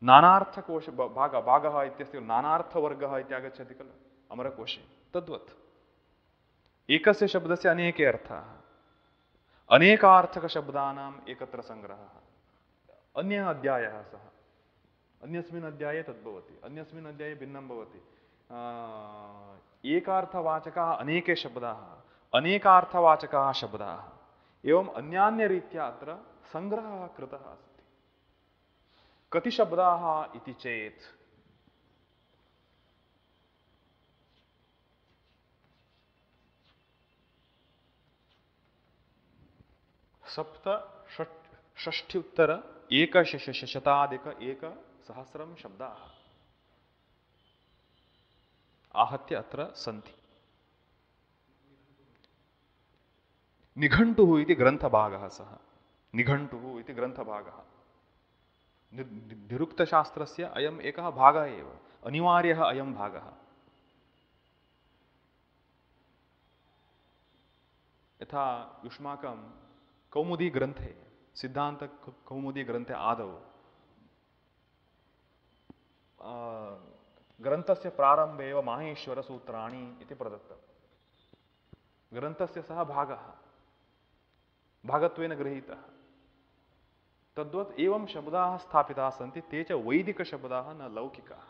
नानार्थकोश भाग भागः इत्यस्य नानार्थवर्गः इत्यागच्छति खलु अमरकोशे, तद्वत् एकस्य शब्दस्य अनेके अर्थाः, अनेकार्थकशब्दानाम् एकत्र सङ्ग्रहः। अन्यः अध्यायः सः, अन्यस्मिन् अध्याये तद्भवति, अन्यस्मिन् अध्याये भिन्नं भवति। एकार्थवाचकाः अनेके शब्दाः, अनेकार्थवाचकाः शब्दाः, एवम् अन्यान्यरीत्या अत्र सङ्ग्रहः कृतः अस्ति। कति शब्दाः इति चेत् सप्त षष्ठ्युत्तर एकशताधिक एकसहस्रं शब्दाः आहत्य अत्र सन्ति। निघण्टुः इति ग्रन्थभागः सः, निघण्टुः इति ग्रन्थभागः। निरुक्तशास्त्रस्य अयम् एकः भागः एव, अनिवार्यः अयं भागः। यथा युष्माकं कौमुदी ग्रन्थे, सिद्धान्त कौमुदी ग्रन्थे आदौ ग्रन्थस्य प्रारम्भे एव माहेश्वरसूत्राणि इति प्रदत्तं। ग्रन्थस्य सः भागः भागत्वेन गृहीतः। तद्वत् एवं शब्दाः स्थापिताः सन्ति, ते च वैदिकशब्दाः न लौकिकाः।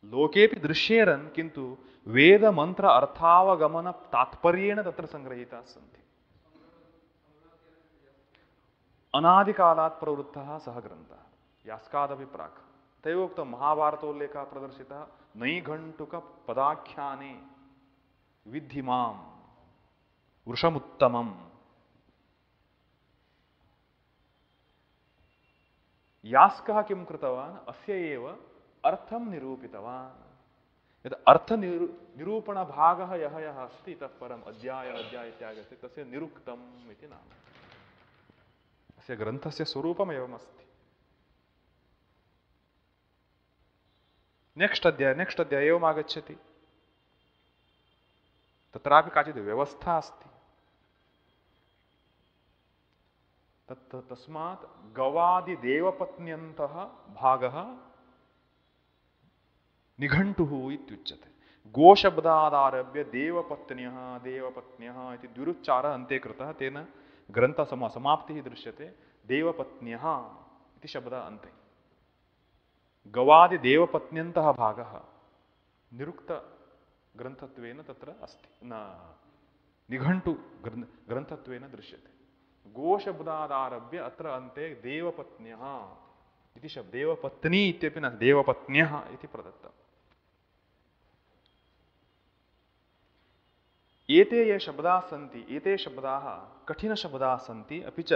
लोकेपि दृश्येरन्, किन्तु वेदमन्त्र अर्थावगमन तात्पर्येण तत्र सङ्गृहीताः सन्ति। अनादिकालात् प्रवृत्तः सः ग्रन्थः, यास्कादपि प्राक्। तैव उक्तं महाभारतोल्लेखः प्रदर्शितः नैघण्टुकपदाख्याने विद्धि मां वृषमुत्तमम्। यास्कः किं कृतवान्, अस्य एव अर्थं निरूपितवान्। यत् अर्थनिरू निरूपणभागः यः यः अस्ति इतः परम् अध्याय अध्याय इत्यादि अस्ति, तस्य निरुक्तम् इति नाम। अस्य ग्रन्थस्य स्वरूपम् एवमस्ति। नेक्स्ट् अध्याय नेक्स्ट् अध्याय एवम् आगच्छति। तत्रापि काचित् व्यवस्था अस्ति। तत् तस्मात् गवादिदेवपत्न्यन्तः भागः निघण्टुः इत्युच्यते। गोशब्दादारभ्य देवपत्न्यः देवपत्न्यः इति द्विरुच्चारः अन्ते कृतः, तेन ग्रन्थसमा समाप्तिः दृश्यते। देवपत्न्यः इति शब्दः अन्ते। गवादिदेवपत्न्यन्तः भागः निरुक्तग्रन्थत्वेन तत्र अस्ति, न निघण्टु ग्रन्थत्वेन दृश्यते। गोशब्दादारभ्य अत्र अन्ते देवपत्न्यः इति शब्दः, देवपत्नी इत्यपि न, देवपत्न्यः इति प्रदत्तम्। एते ये शब्दाः सन्ति, एते शब्दाः कठिनशब्दाः सन्ति, अपि च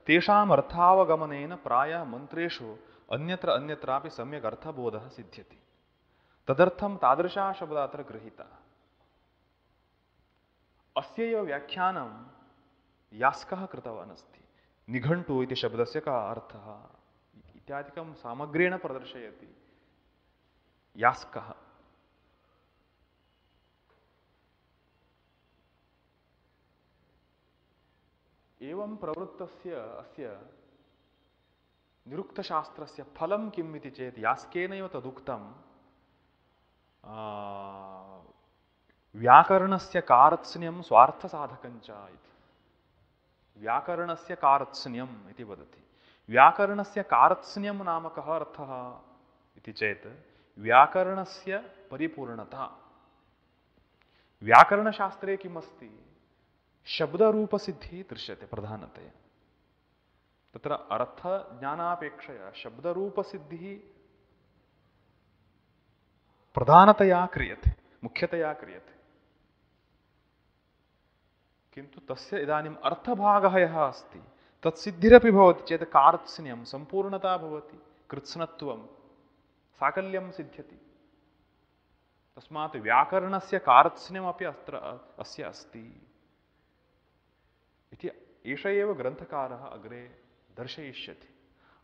तेषाम् अर्थावगमनेन प्रायः मन्त्रेषु अन्यत्र अन्यत्रापि सम्यक् अर्थबोधः सिद्ध्यति। तदर्थं तादृशाः शब्दाः अत्र गृहीताः। अस्यैव व्याख्यानं यास्कः कृतवान् अस्ति। निघण्टु इति शब्दस्य कः अर्थः इत्यादिकं सामग्र्येण प्रदर्शयति यास्कः। एवं प्रवृत्तस्य अस्य निरुक्तशास्त्रस्य फलं किम् इति चेत् यास्केनैव तदुक्तं। व्याकरणस्य कारत्स्न्यं स्वार्थसाधकञ्च इति। व्याकरणस्य कारत्स्न्यम् इति वदति। व्याकरणस्य कारत्स्न्यं नाम कः अर्थः इति चेत् व्याकरणस्य परिपूर्णता। व्याकरणशास्त्रे किमस्ति, शब्दरूपसिद्धिः दृश्यते प्रधानतया। तत्र अर्थज्ञानापेक्षया शब्दरूपसिद्धिः प्रधानतया क्रियते, मुख्यतया क्रियते। किन्तु तस्य इदानीम् अर्थभागः यः अस्ति तत्सिद्धिरपि भवति चेत् कारत्स्न्यं सम्पूर्णता भवति, कृत्स्नत्वं साकल्यं सिद्ध्यति। तस्मात् व्याकरणस्य कारत्स्न्यमपि अत्र अस्य अस्ति इति एष एव ग्रन्थकारः अग्रे दर्शयिष्यति।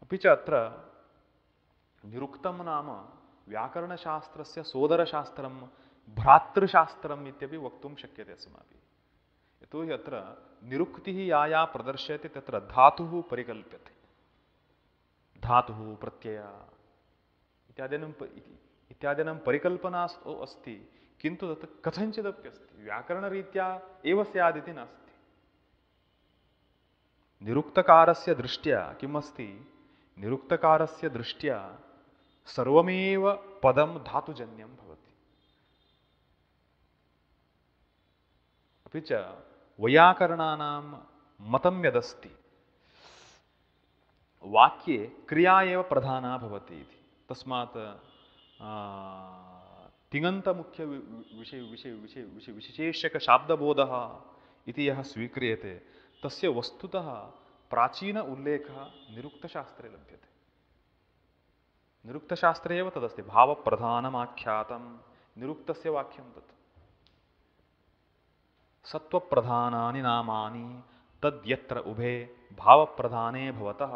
अपि च अत्र निरुक्तं नाम व्याकरणशास्त्रस्य सोदरशास्त्रं भ्रातृशास्त्रम् इत्यपि वक्तुं शक्यते अस्माभिः। यतोहि अत्र निरुक्तिः या या प्रदर्श्यते तत्र धातुः परिकल्प्यते। धातुः प्रत्ययः इत्यादीनां इत्यादीनां परिकल्पना अस्ति, किन्तु तत् कथञ्चिदपि अस्ति, व्याकरणरीत्या एव स्यादिति नास्ति। निरुक्तकारस्य दृष्ट्या किम् अस्ति, निरुक्तकारस्य दृष्ट्या सर्वमेव पदं धातुजन्यं भवति। अपि च वैयाकरणानां मतं यदस्ति, वाक्ये क्रिया एव प्रधाना भवति इति। तस्मात् तिङन्तमुख्य विषय विषय विषय विषय विशेषकशाब्दबोधः इति यः स्वीक्रियते तस्य वस्तुतः प्राचीन उल्लेखः निरुक्तशास्त्रे लभ्यते। निरुक्तशास्त्रे एव तदस्ति, भावप्रधानमाख्यातं निरुक्तस्य वाक्यं तत्। सत्वप्रधानानि नामानि तद्यत्र उभे भावप्रधाने भवतः,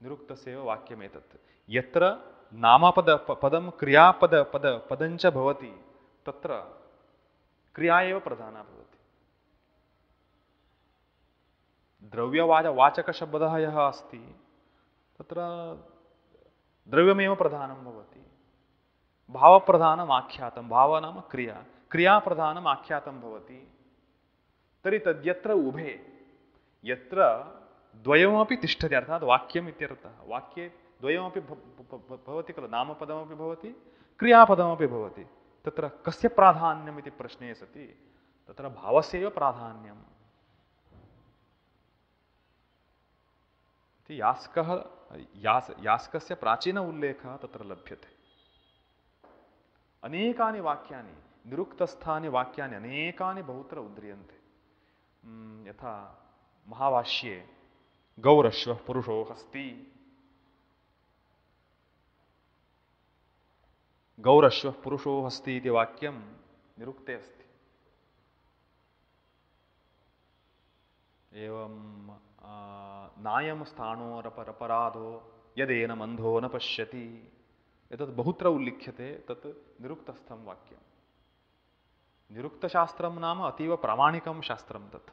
निरुक्तस्य एव वाक्यमेतत्। यत्र नामपद पदं क्रियापद पद पदञ्च भवति तत्र क्रिया एव प्रधाना भवति। द्रव्यवाच वाचकशब्दः यः अस्ति तत्र द्रव्यमेव प्रधानं भवति। भावप्रधानम् आख्यातं, भाव नाम क्रिया, क्रियाप्रधानम् आख्यातं भवति। तर्हि तद्यत्र उभे, यत्र द्वयमपि तिष्ठति, अर्थात् वाक्यम् इत्यर्थः। वाक्ये द्वयमपि भवति खलु, नामपदमपि भवति क्रियापदमपि भवति। तत्र कस्य प्राधान्यम् इति प्रश्ने सति तत्र भावस्यैव प्राधान्यम् इति यास्कः यास यास्कस्य प्राचीन उल्लेखः तत्र लभ्यते। अनेकानि वाक्यानि, निरुक्तस्थानि वाक्यानि अनेकानि बहुत्र उद्रियन्ते। यथा महाभाष्ये गौरश्वः पुरुषो हस्ति, गौरश्वः पुरुषो हस्ति इति वाक्यं निरुक्ते अस्ति। एवं नायं स्थाणोरपराधो यदेन अन्धो न पश्यति, एतत् बहुत्र उल्लिख्यते। तत् निरुक्तस्थं वाक्यं। निरुक्तशास्त्रं नाम अतीव प्रामाणिकं शास्त्रं तत्।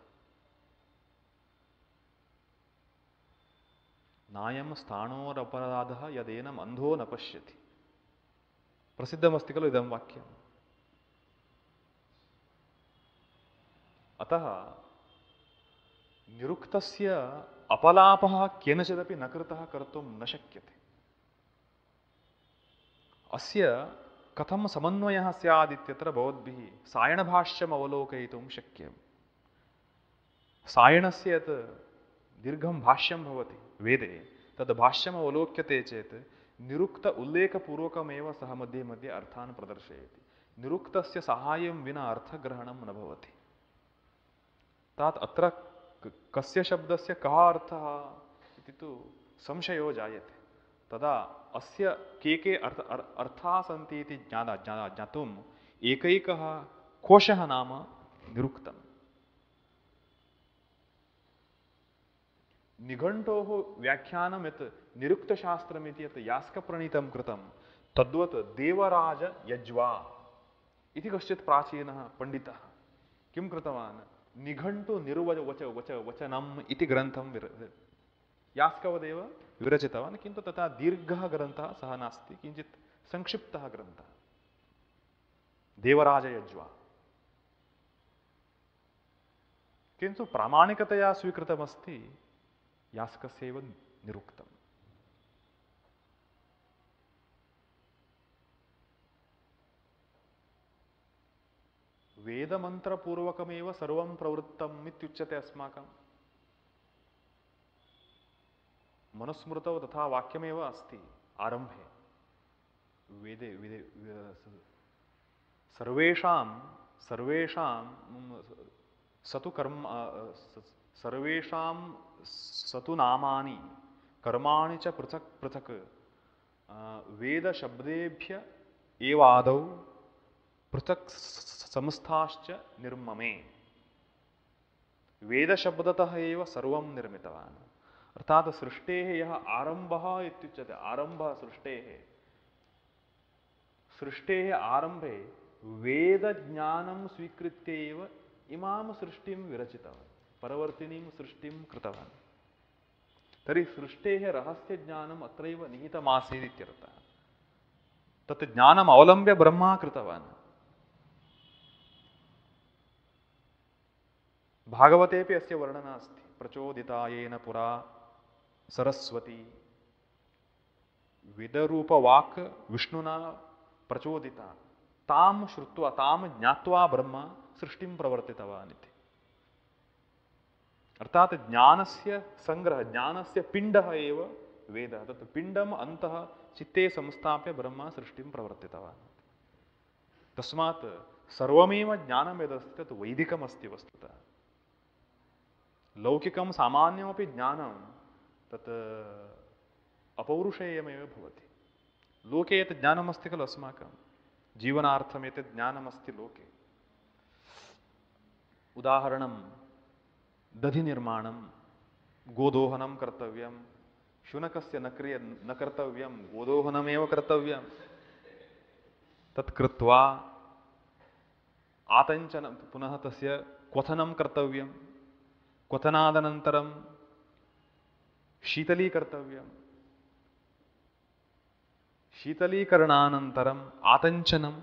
नायं स्थाणोरपराधः यदेन अन्धो न पश्यति, प्रसिद्धमस्ति खलु इदं वाक्यम्। अतः निरुक्तस्य अपलापः केनचिदपि न कृतः कर्तुं न शक्यते। अस्य कथं समन्वयः स्यात् इत्यत्र भवद्भिः सायणभाष्यम् अवलोकयितुं शक्यम्। सायणस्य यत् दीर्घं भाष्यं भवति वेदे, तद् भाष्यम् अवलोक्यते चेत् निरुक्त उल्लेखपूर्वकमेव सः मध्ये मध्ये अर्थान् प्रदर्शयति। निरुक्तस्य सहायं विना अर्थग्रहणं न भवति। तात् अत्र कस्य शब्दस्य कः अर्थः इति तु संशयो जायते। तदा अस्य के के अर्थ अर्थाः सन्ति इति ज्ञाना ज्ञाना ज्ञातुम् एकैकः कोशः नाम निरुक्तम्। निघण्टोः व्याख्यानं यत् निरुक्तशास्त्रमिति यत् यास्कप्रणीतं कृतं तद्वत् देवराजयज्वा इति कश्चित् प्राचीनः पण्डितः किं कृतवान्, निघण्टु निर्वच वच वच वचनम् इति ग्रन्थं विर यास्कवदेव विरचितवान्। किन्तु तथा दीर्घः ग्रन्थः सः नास्ति, किञ्चित् संक्षिप्तः ग्रन्थः देवराजयज्वा। किन्तु प्रामाणिकतया स्वीकृतमस्ति यास्कस्यैव निरुक्तम्। वेदमन्त्रपूर्वकमेव सर्वं प्रवृत्तम् इत्युच्यते अस्माकं। मनुस्मृतौ तथा वाक्यमेव अस्ति आरम्भे। वेदे वेदे सर्वेषां सर्वेषां सतु कर्म सर्वेषां सतु नामानि कर्माणि च पृथक् पृथक् वेदशब्देभ्य एव आदौ पृथक् संस्थाश्च निर्ममे। वेदशब्दतः एव सर्वं निर्मितवान्। अर्थात् सृष्टेः यः आरम्भः इत्युच्यते, आरम्भः सृष्टेः, सृष्टेः आरम्भे वेदज्ञानं स्वीकृत्य एव इमां सृष्टिं विरचितवान्, परवर्तिनीं सृष्टिं कृतवान्। तर्हि सृष्टेः रहस्यज्ञानम् अत्रैव निहितमासीत् इत्यर्थः। तत् ज्ञानम् अवलम्ब्य ब्रह्मा कृतवान्। भागवतेपि अस्य वर्णना अस्ति। प्रचोदिता येन पुरा सरस्वती, वेदरूपवाक् विष्णुना प्रचोदिता, तां श्रुत्वा तां ज्ञात्वा ब्रह्मा सृष्टिं प्रवर्तितवान् इति। अर्थात ज्ञानस्य संग्रह, ज्ञानस्य पिण्डः एव वेदः। तत् पिण्डम् अन्तः चित्ते संस्थाप्य ब्रह्मा सृष्टिं प्रवर्तितवान्। तस्मात् सर्वमेव ज्ञानं यदस्ति तत् वैदिकमस्ति वस्तुतः। लौकिकं सामान्यमपि ज्ञानं तत् अपौरुषेयमेव भवति। लोके यत् ज्ञानमस्ति खलु अस्माकं जीवनार्थम् एतत् ज्ञानमस्ति लोके। उदाहरणं दधिनिर्माणं, गोदोहनं कर्तव्यं, शुनकस्य न क्रिय न कर्तव्यं, गोदोहनमेव कर्तव्यं। तत् कृत्वा आतञ्चनं, पुनः तस्य क्वथनं कर्तव्यं, क्वथनादनन्तरं शीतलीकर्तव्यं, शीतलीकरणानन्तरम् आतञ्चनं,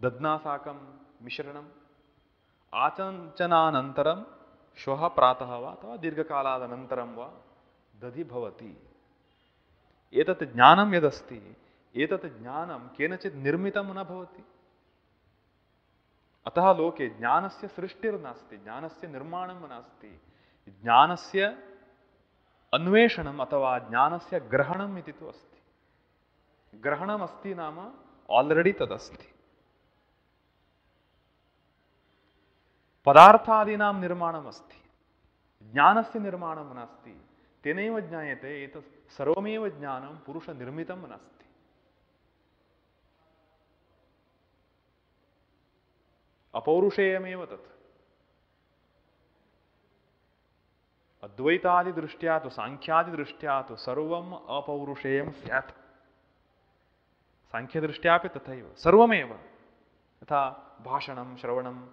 दध्ना साकं मिश्रणम्, आतञ्चनानन्तरं श्वः प्रातः वा अथवा दीर्घकालादनन्तरं वा दधि भवति। एतत् ज्ञानं यदस्ति, एतत् ज्ञानं केनचित् निर्मितं न भवति। अतः लोके ज्ञानस्य सृष्टिर्नास्ति, ज्ञानस्य निर्माणं नास्ति। ज्ञानस्य अन्वेषणम् अथवा ज्ञानस्य ग्रहणम् इति तु अस्ति। ग्रहणमस्ति नाम आल्रेडि तदस्ति। पदार्थादीनां निर्माणमस्ति, ज्ञानस्य निर्माणं नास्ति। तेनैव ज्ञायते एतत् सर्वमेव ज्ञानं पुरुषनिर्मितं नास्ति। अपौरुषेयमेव तत्। अद्वैतादिदृष्ट्या तु साङ्ख्यादिदृष्ट्या तु सर्वम् अपौरुषेयं स्यात्। साङ्ख्यदृष्ट्यापि तथैव सर्वमेव। यथा भाषणं, श्रवणम्,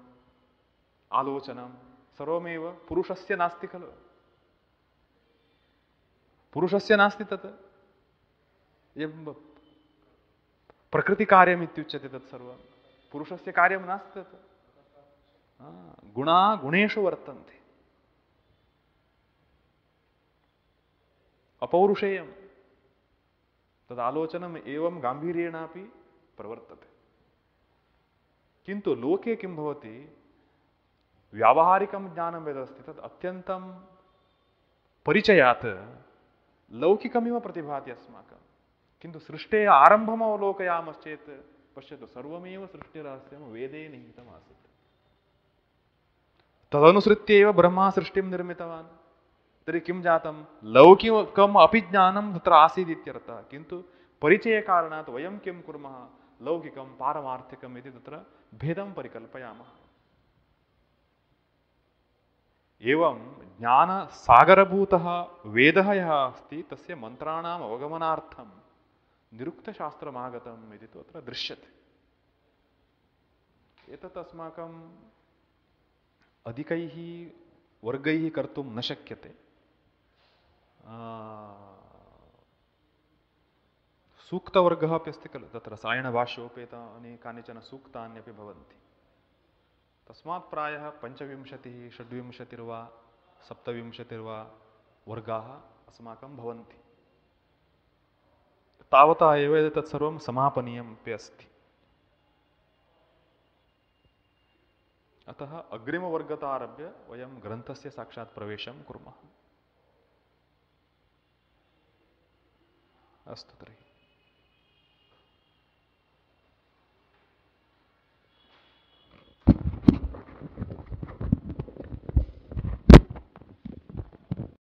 आलोचनं सर्वमेव पुरुषस्य नास्ति खलु। पुरुषस्य नास्ति तत्। प्रकृतिकार्यम् इत्युच्यते तत् सर्वं। पुरुषस्य कार्यं नास्ति तत्। गुणा गुणेषु वर्तन्ते। अपौरुषेयं तदालोचनम् एवं गाम्भीर्येणापि प्रवर्तते। किन्तु लोके किं भवति, व्यावहारिकं ज्ञानं यदस्ति तत् अत्यन्तं परिचयात् लौकिकमिव प्रतिभाति अस्माकं। किन्तु सृष्टेः आरम्भम् अवलोकयामश्चेत् पश्यतु, सर्वमेव सृष्टिरहस्यं वेदे निहितमासीत्। तदनुसृत्य एव ब्रह्मा सृष्टिं निर्मितवान्। तर्हि किं जातं, लौकिकम् अपि ज्ञानं तत्र आसीदित्यर्थः। किन्तु परिचयकारणात् वयं किं कुर्मः, लौकिकं पारमार्थिकम् इति तत्र भेदं परिकल्पयामः। एवं ज्ञानसागरभूतः वेदः यः अस्ति तस्य मन्त्राणाम् अवगमनार्थं निरुक्तशास्त्रमागतम् इति तु अत्र दृश्यते। एतत् अस्माकम् अधिकैः वर्गैः कर्तुं न शक्यते। सूक्तवर्गः अपि अस्ति खलु, तत्र सायणभाष्योपेतानि कानिचन सूक्तान्यपि भवन्ति। तस्मात् प्रायः पञ्चविंशतिः षड्विंशतिर्वा सप्तविंशतिर्वा वर्गाः अस्माकं भवन्ति। तावता एव तत् सर्वं समापनीयमपि अस्ति। अतः अग्रिमवर्गतारभ्य वयं ग्रन्थस्य साक्षात् प्रवेशं कुर्मः। अस्तु तर्हि।